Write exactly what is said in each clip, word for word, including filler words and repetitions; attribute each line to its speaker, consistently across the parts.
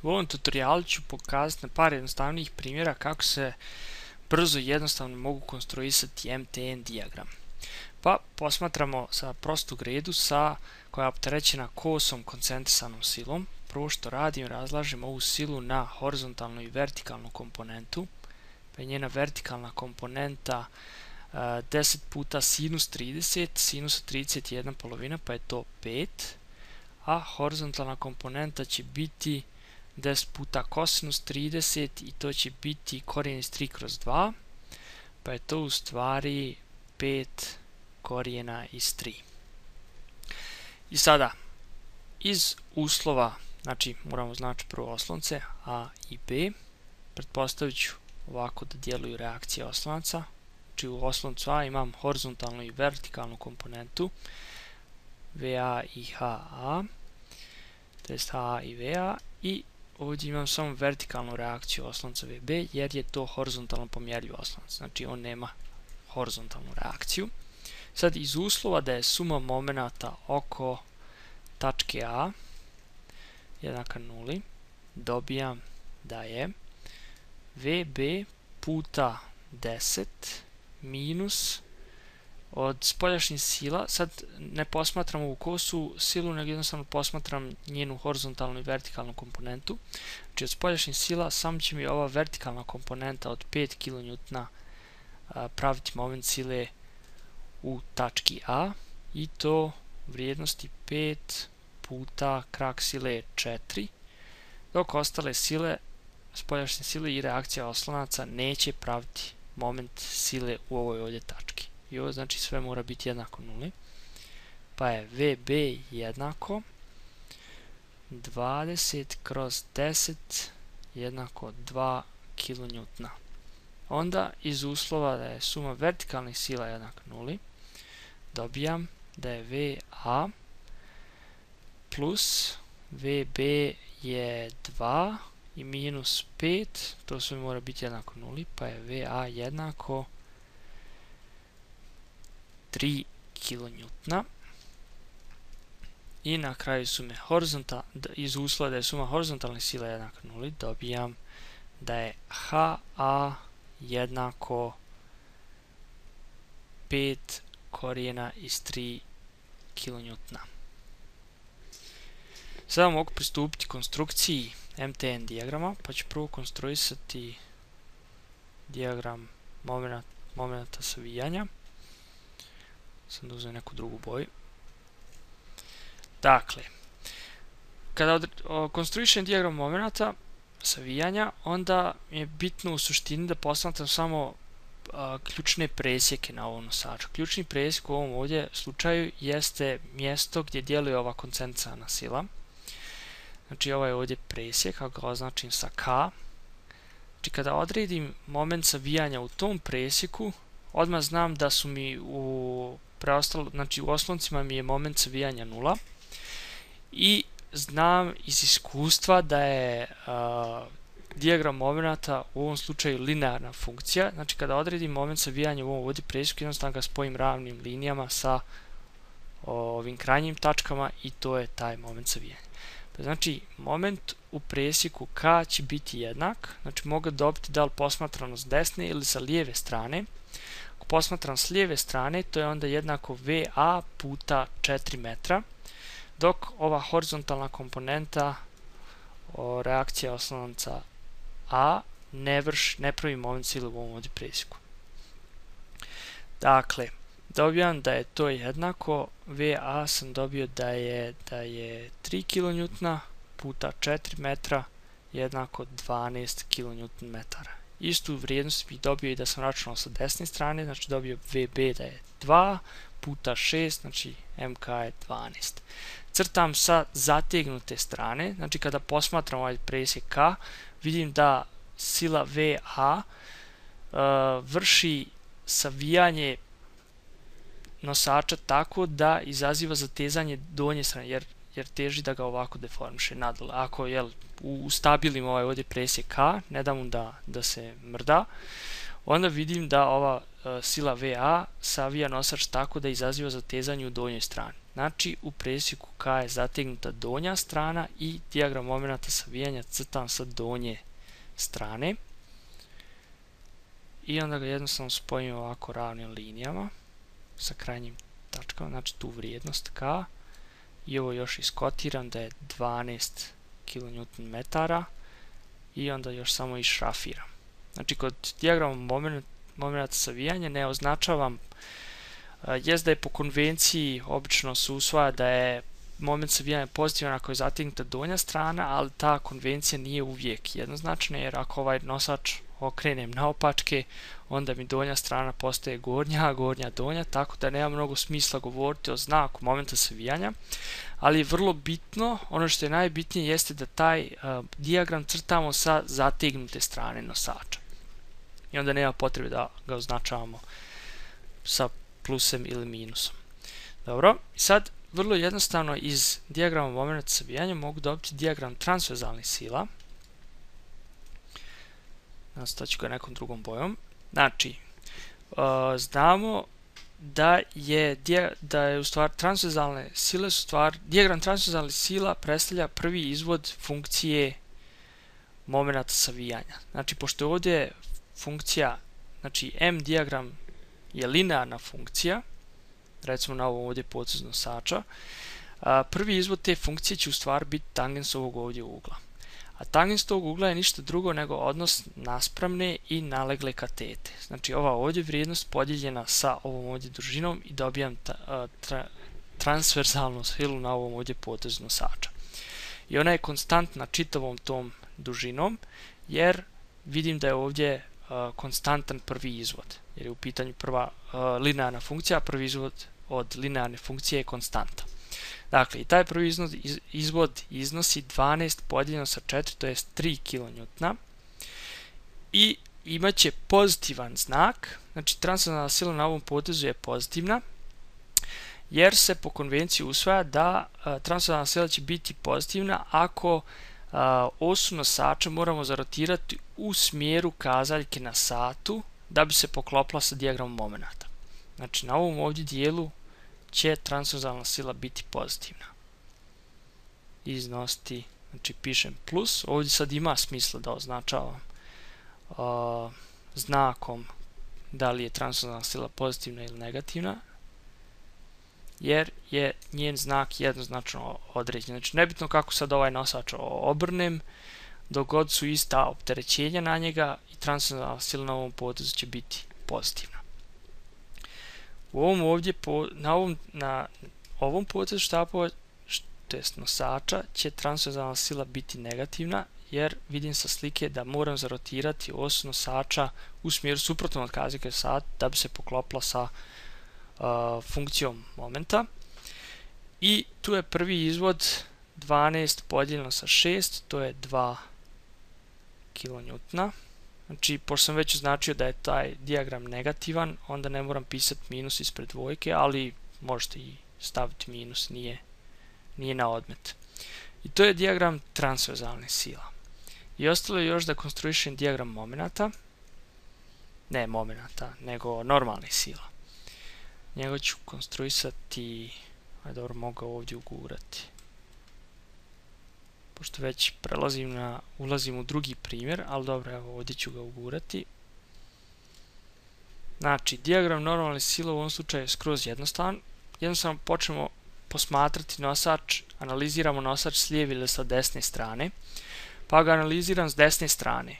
Speaker 1: U ovom tutorialu ću pokazati na par jednostavnijih primjera kako se brzo i jednostavno mogu konstruisati M T N dijagram. Pa posmatramo sa prostu gredu sa, koja je opterećena kosom koncentrisanom silom. Prvo što radim, razlažem ovu silu na horizontalnu i vertikalnu komponentu. Pa je njena vertikalna komponenta uh, deset puta sinus trideset, sinus trideset je jedna polovina, pa je to pet. A horizontalna komponenta će biti deset puta kosinus trideset i to će biti korijen iz tri kroz dva, pa je to u stvari pet korijena iz tri. I sada, iz uslova, znači moramo znači prvo oslonce A i B, pretpostavit ću ovako da djeluju reakcije oslonaca. Znači u osloncu A imam horizontalnu i vertikalnu komponentu V A i H A, to jest H A i V A, i ovdje imam samo vertikalnu reakciju oslonca V B jer je to horizontalno pomjerljiv oslonac, znači on nema horizontalnu reakciju. Sad iz uslova da je suma momenata oko tačke A jednaka nuli, dobijam da je V B puta deset minus od spoljašnjih sila, sad ne posmatram ovu kosu silu, nego jednostavno posmatram njenu horizontalnu i vertikalnu komponentu. Znači od spoljašnjih sila samo će mi ova vertikalna komponenta od pet kilonewtona praviti moment sile u tački A i to vrijednosti pet puta krak sile četiri, dok ostale sile, spoljašnje sile i reakcija oslonaca neće praviti moment sile u ovoj ovdje tački. I ovo znači sve mora biti jednako nuli, pa je V B jednako dvadeset kroz deset jednako dva kilonewtona. Onda iz uslova da je suma vertikalnih sila jednaka nuli, dobijam da je V A plus V B je dva i minus pet, to sve mora biti jednako nuli, pa je V A jednako tri kilonewtona. I na kraju sume horizontal, iz uslova da je suma horizontalnih sila jednaka nuli, dobijam da je H A jednako pet korijena iz tri kilonewtona. Sada mogu pristupiti konstrukciji M T N dijagrama, pa ću prvo konstruisati dijagram momenta, momenta savijanja. Sam da uzmem neku drugu boju. Dakle, kada konstruišem dijagram momenta savijanja, onda je bitno u suštini da posmatram samo a, ključne presjeke na ovom nosaču. Ključni presjek u ovom ovdje slučaju jeste mjesto gdje djeluje ova koncentrisana sila. Znači ovaj je ovdje presjek, ako ga označim sa K. Znači kada odredim moment savijanja u tom presjeku, odmah znam da su mi u preostalo, znači u osloncima mi je moment savijanja nula. I znam iz iskustva da je uh, dijagram momenata u ovom slučaju linearna funkcija. Znači kada odredim moment savijanja u ovom ovdje presjeku, jednostavno ga spojim ravnim linijama sa ovim krajnjim tačkama i to je taj moment savijanja. Pa znači moment u presjeku K će biti jednak, znači mogu dobiti da li posmatrano s desne ili sa lijeve strane. Ako posmatram s lijeve strane, to je onda jednako V A puta četiri metra, dok ova horizontalna komponenta o, reakcija oslonca A ne, vrš, ne pravi moment sile u ovom ovdje presjeku. Dakle, dobijam da je to jednako, V A sam dobio da je, da je tri kilonewtona puta četiri metra jednako dvanaest kilonewton metara. Istu vrijednost bih dobio i da sam računao sa desne strane, znači dobio V B da je dva puta šest, znači M K je dvanaest. Crtam sa zategnute strane, znači kada posmatram ovaj presjek K, vidim da sila V A uh, vrši savijanje nosača tako da izaziva zatezanje donje strane, jer, jer teži da ga ovako deformiše nadole. Ako jel, ustabilim ovaj ovdje presjek K, ne dam mu da, da se mrda, onda vidim da ova uh, sila V A savija nosač tako da izaziva zatezanje u donjoj strani. Znači u presjeku K je zategnuta donja strana i dijagram momenata savijanja crtam sa donje strane. I onda ga jednostavno spojimo ovako ravnim linijama sa krajnjim tačkama, znači tu vrijednost K. I ovo još iskotiram da je dvanaest kilonewton-metara i onda još samo išrafiram. Znači kod dijagrama moment, momenata savijanja ne označavam, jest da je po konvenciji obično se usvaja da je moment savijanja pozitivan ako je zategnuta donja strana, ali ta konvencija nije uvijek jednoznačna, jer ako ovaj nosač okrenem naopačke, onda mi donja strana postaje gornja, a gornja donja, tako da nema mnogo smisla govoriti o znaku momenta savijanja, ali je vrlo bitno, ono što je najbitnije jeste da taj uh, dijagram crtamo sa zategnute strane nosača. I onda nema potrebe da ga označavamo sa plusem ili minusom. Dobro, sad vrlo jednostavno iz dijagrama momenta savijanja mogu dobiti dijagram transverzalnih sila. Nastavit ću ga nekom drugom bojom. Znači, uh, znamo da je, da je u stvari transverzalne sile su stvar, dijagram transverzalnih sila predstavlja prvi izvod funkcije momenta savijanja. Znači, pošto je ovdje funkcija, znači M dijagram je linearna funkcija, recimo na ovom ovdje potezu nosača, a, prvi izvod te funkcije će u stvari biti tangens ovog ovdje ugla. A tangens tog ugla je ništa drugo nego odnos naspramne i nalegle katete. Znači ova ovdje vrijednost podijeljena sa ovom ovdje dužinom i dobijam ta, a, tra, transverzalnu silu na ovom ovdje potezu nosača. I ona je konstantna čitavom tom dužinom, jer vidim da je ovdje uh, konstantan prvi izvod, jer je u pitanju prva uh, linearna funkcija, a prvi izvod od linearne funkcije je konstanta. Dakle, i taj prvi izvod, iz, izvod iznosi dvanaest podijeljeno sa četiri, to je tri kilonewtona, i imat će pozitivan znak, znači transverzalna sila na ovom potezu je pozitivna, jer se po konvenciji usvaja da uh, transverzalna sila će biti pozitivna ako uh, osu nosača moramo zarotirati u smjeru kazaljke na satu da bi se poklopila sa dijagramom momenata. Znači na ovom ovdje dijelu će transverzalna sila biti pozitivna. Iznosti, znači pišem plus, ovdje sad ima smisla da označavam uh, znakom da li je transverzalna sila pozitivna ili negativna, jer je njen znak jednoznačno određen. Znači nebitno kako sad ovaj nosač obrnem, dok god su ista opterećenja na njega i transverzalna sila na ovom potezu će biti pozitivna. U ovom ovdje, po, na, ovom, na ovom potezu štapova, to jest nosača, će transverzalna sila biti negativna, jer vidim sa slike da moram zarotirati osu nosača u smjeru suprotnom od kazaljke sat da bi se poklopila sa Uh, funkcijom momenta. I tu je prvi izvod dvanaest podijeljeno sa šest, to je dva kilonewtona. Znači, pošto sam već označio da je taj dijagram negativan, onda ne moram pisati minus ispred dvojke, ali možete i staviti minus, nije, nije na odmet. I to je dijagram transverzalne sila. I ostalo je još da konstruišem dijagram momenata, ne momenata, nego normalnih sila. Njega ću konstruisati, ajde dobro, mogu ovdje ugurati. Pošto već prelazim na, ulazim u drugi primjer, ali dobro, evo ovdje ću ga ugurati. Znači, dijagram normalne sile u ovom slučaju je skroz jednostavan. Jednostavno počnemo posmatrati nosač, analiziramo nosač s lijeve ili sa desne strane, pa ga analiziram s desne strane.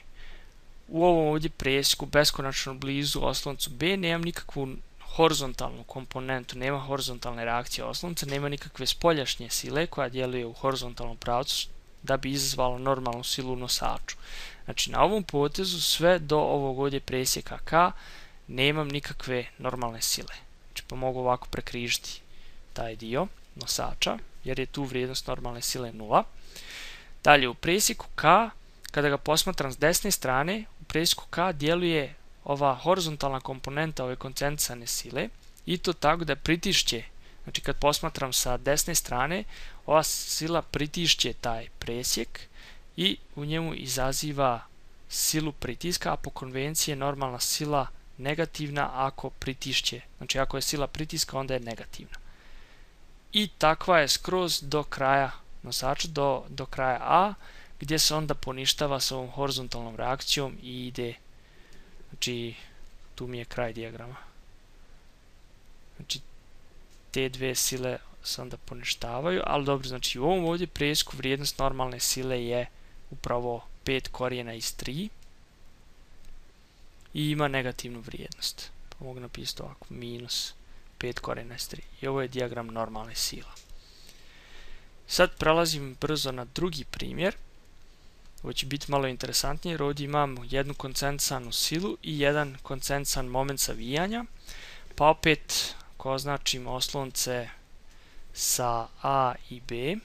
Speaker 1: U ovom ovdje presjeku beskonačno blizu osloncu B nemam nikakvu horizontalnu komponentu, nema horizontalne reakcije oslonca, nema nikakve spoljašnje sile koja djeluje u horizontalnom pravcu da bi izazvala normalnu silu u nosaču. Znači na ovom potezu sve do ovog ovdje presjeka K nemam nikakve normalne sile. Znači pa mogu ovako prekrižiti taj dio nosača jer je tu vrijednost normalne sile nula. Dalje u presjeku K, kada ga posmatram s desne strane, u presjeku K djeluje ova horizontalna komponenta ove koncentrisane sile i to tako da pritišće, znači kad posmatram sa desne strane, ova sila pritišće taj presjek i u njemu izaziva silu pritiska, a po konvenciji je normalna sila negativna ako pritišće, znači ako je sila pritiska onda je negativna. i takva je skroz do kraja nosača, do, do kraja A, gdje se onda poništava s ovom horizontalnom reakcijom i ide, znači tu mi je kraj dijagrama. Znači te dve sile se onda poništavaju, ali dobro, znači u ovom ovdje presjeku vrijednost normalne sile je upravo pet korijena iz tri i ima negativnu vrijednost. Pa mogu napisati ovako, minus pet korijena iz tri. I ovo je dijagram normalne sila. Sad prelazim brzo na drugi primjer. Ovo će biti malo interesantnije jer ovdje imamo jednu koncentrisanu silu i jedan koncentrisan moment savijanja. Pa opet, ako označim oslonce sa A i B,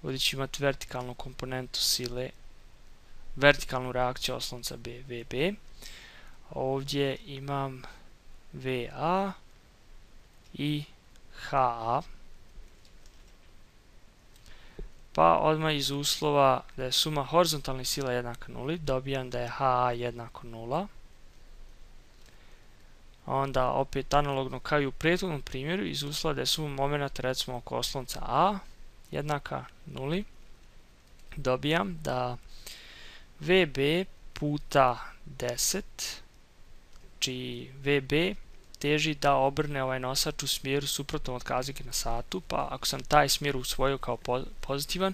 Speaker 1: ovdje ću imati vertikalnu komponentu sile, vertikalnu reakciju oslonca B, V B. Ovdje imam V A i H A. Pa odmah iz uslova da je suma horizontalnih sila jednaka nuli, dobijam da je H A jednako nula. Onda opet analogno kao i u prethodnom primjeru, iz uslova da je suma momenta recimo oko oslonca A jednaka nuli, dobijam da V B puta deset, znači V B teži da obrne ovaj nosač u smjeru suprotnom od kazike na satu, pa ako sam taj smjer usvojio kao pozitivan,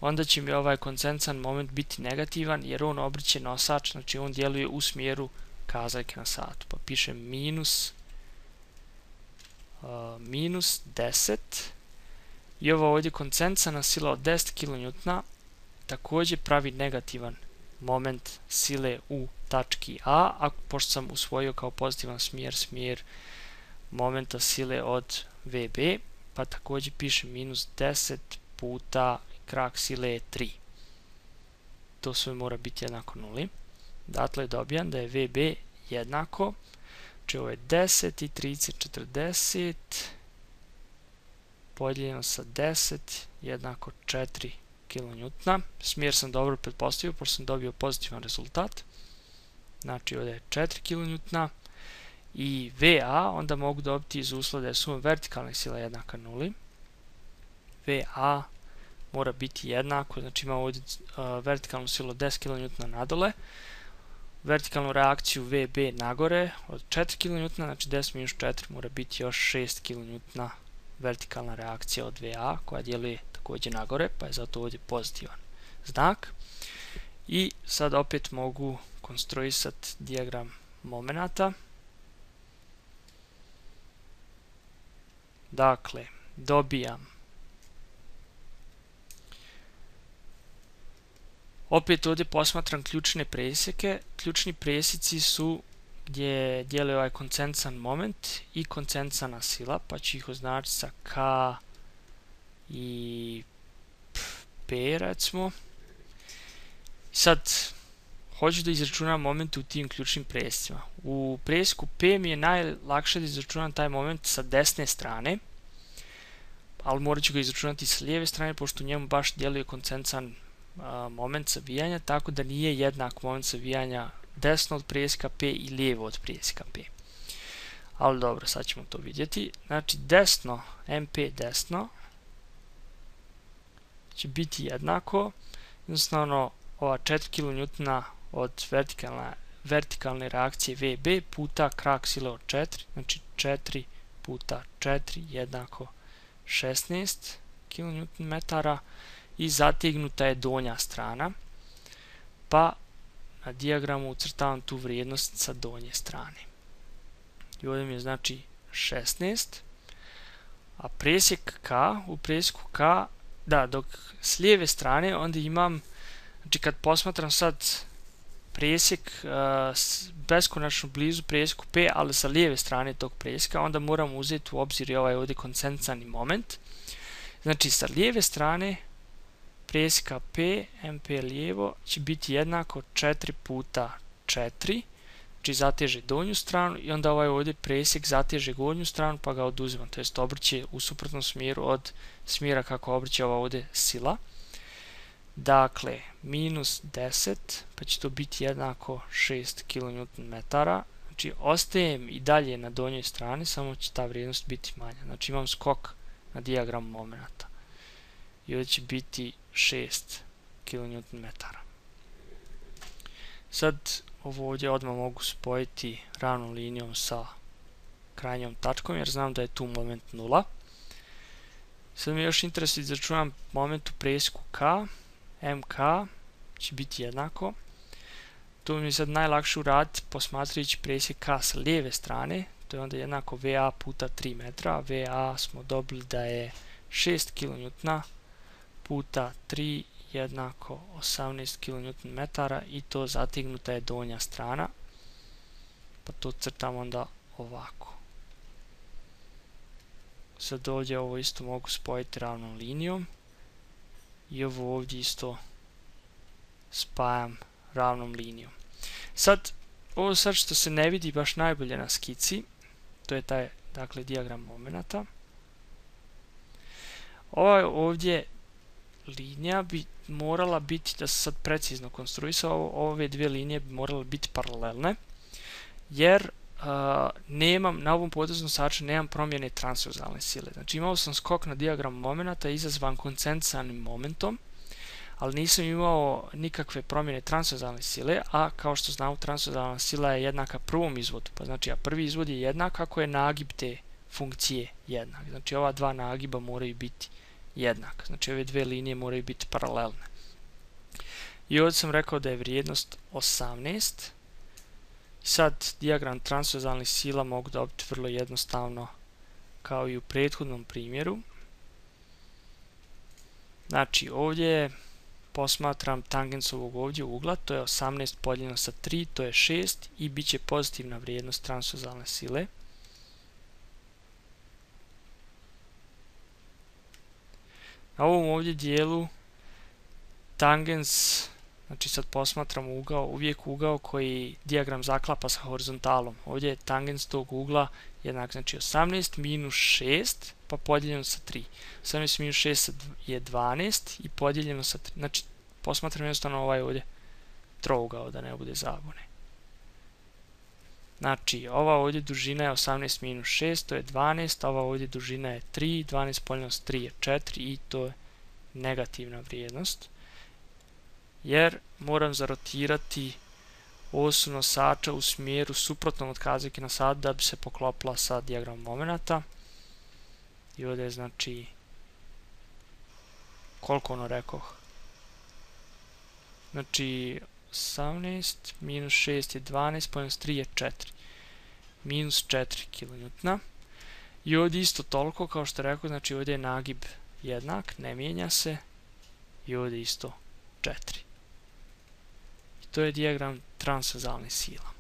Speaker 1: onda će mi ovaj koncentrisan moment biti negativan jer on obrće nosač, znači on djeluje u smjeru kazike na satu. Pa pišem minus, uh, minus deset i ovo ovdje koncentrisana sila od deset kilonewtona također pravi negativan moment sile u tački A, a pošto sam usvojio kao pozitivan smjer, smjer momenta sile od V B, pa također pišem minus deset puta krak sile je tri. To sve mora biti jednako nuli. Dakle, dobijam da je V B jednako, znači ovo je deset i trideset, četrdeset, podijeljeno sa deset jednako četiri kilonewtona. Smjer sam dobro pretpostavio, pošto sam dobio pozitivan rezultat. Znači ovdje je četiri kilonewtona i V A onda mogu dobiti iz uslova da je suma vertikalnih sila jednaka nuli. V A mora biti jednako, znači imamo ovdje uh, vertikalnu silu deset kilonewtona nadole, vertikalnu reakciju V B nagore od četiri kilonewtona, znači deset minus četiri mora biti još šest kilonewtona vertikalna reakcija od V A koja djeluje također nagore, pa je zato ovdje pozitivan znak. I sad opet mogu konstruisati dijagram momenata. Dakle, dobijam opet ovdje posmatram ključne presjeke. Ključni presjeci su gdje djeluje ovaj koncentrisan moment i koncentrisana sila, pa ću ih označiti sa K i P recimo. Sad, hoću da izračunam moment u tim ključnim presjecima. U presjeku P mi je najlakše da izračunam taj moment sa desne strane, ali morat ću ga izračunati sa lijeve strane, pošto u njemu baš djeluje koncentrisan moment savijanja, tako da nije jednak moment savijanja desno od presjeka P i lijevo od presjeka P. Ali dobro, sad ćemo to vidjeti. Znači, desno, M P desno, će biti jednako, jednostavno, ova četiri kilonewtona od vertikalne, vertikalne reakcije V B puta krak sile od četiri, znači četiri puta četiri jednako šesnaest kilonewton-metara i zategnuta je donja strana, pa na dijagramu ucrtavam tu vrijednost sa donje strane. I ovdje mi je znači šesnaest, a presjek K, u presjeku K, da, dok s lijeve strane onda imam, znači kad posmatram sad presjek uh, beskonačno blizu presjeku P, ali sa lijeve strane tog presjeka, onda moram uzeti u obzir i ovaj ovdje koncentrisani moment. Znači sa lijeve strane presjeka P, M P lijevo, će biti jednako četiri puta četiri, znači zateže donju stranu i onda ovaj ovdje presjek zateže gornju stranu pa ga oduzimam, to jest obrće u suprotnom smjeru od smjera kako obrće ova ovdje sila. Dakle, minus deset, pa će to biti jednako šest kilonewton-metara, znači ostajem i dalje na donjoj strani, samo će ta vrijednost biti manja. Znači imam skok na dijagram momenta. I ovdje će biti šest kilonewton metara. Sad ovo ovdje odmah mogu spojiti ravnom linijom sa krajnjom tačkom jer znam da je tu moment nula. Sad mi još interesuje da izračunam moment u presjeku K. M K će biti jednako. Tu mi je sad najlakše uraditi posmatrajući presjek K sa lijeve strane. To je onda jednako V A puta tri metra. V A smo dobili da je šest kilonewtona puta tri jednako osamnaest kilonewton metara i to zategnuta je donja strana. Pa to crtam onda ovako. Sad ovdje ovo isto mogu spojiti ravnom linijom. I ovo ovdje isto spajam ravnom linijom. Sad, ovo sad što se ne vidi baš najbolje na skici, to je taj, dakle, dijagram momenata. Ova ovdje linija bi morala biti, da se sad precizno konstruisao, ove dvije linije bi morale biti paralelne, jer uh, nemam, na ovom potezu nosača nemam promjene transverzalne sile. Znači imao sam skok na dijagram momenata izazvan koncentrisanim momentom, ali nisam imao nikakve promjene transverzalne sile, a kao što znamo transverzalna sila je jednaka prvom izvodu, pa znači a prvi izvod je jednak ako je nagib te funkcije jednak. Znači ova dva nagiba moraju biti jednak, znači ove dve linije moraju biti paralelne. I ovdje sam rekao da je vrijednost osamnaest. Sad dijagram transverzalnih sila mogu dobiti vrlo jednostavno kao i u prethodnom primjeru. Znači ovdje posmatram tangens ovog ovdje ugla, to je osamnaest podijeljeno sa tri, to je šest i bit će pozitivna vrijednost transverzalne sile. Na ovom ovdje dijelu tangens, znači sad posmatramo ugao, uvijek ugao koji dijagram zaklapa sa horizontalom. Ovdje je tangens tog ugla jednak, znači osamnaest minus šest pa podijeljeno sa tri. osamnaest minus šest je dvanaest i podijeljeno sa tri. Znači posmatram jednostavno ovaj ovdje trougao da ne bude zabune. Znači ova ovdje dužina je osamnaest minus šest, to je dvanaest, a ova ovdje dužina je tri, dvanaest podijeljeno sa tri je četiri i to je negativna vrijednost. Jer moram zarotirati osu nosača u smjeru suprotnom od kazaljke na sat da bi se poklopila sa dijagramom momenata. I ovdje je znači koliko ono rekoh? Znači osamnaest minus šest je dvanaest, podijeljeno sa tri je četiri. Minus četiri kilonewtona. I ovdje isto toliko kao što rekao, znači ovdje je nagib jednak, ne mijenja se. I ovdje isto četiri. I to je dijagram transverzalnih sila.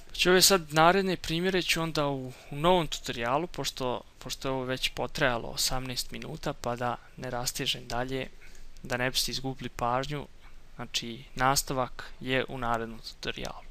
Speaker 1: Znači ove sad naredne primjere ću onda u, u novom tutorijalu, pošto, pošto je ovo već potrajalo osamnaest minuta, pa da ne rastežem dalje, da ne biste izgubili pažnju. Znači nastavak je u narednom tutorijalu.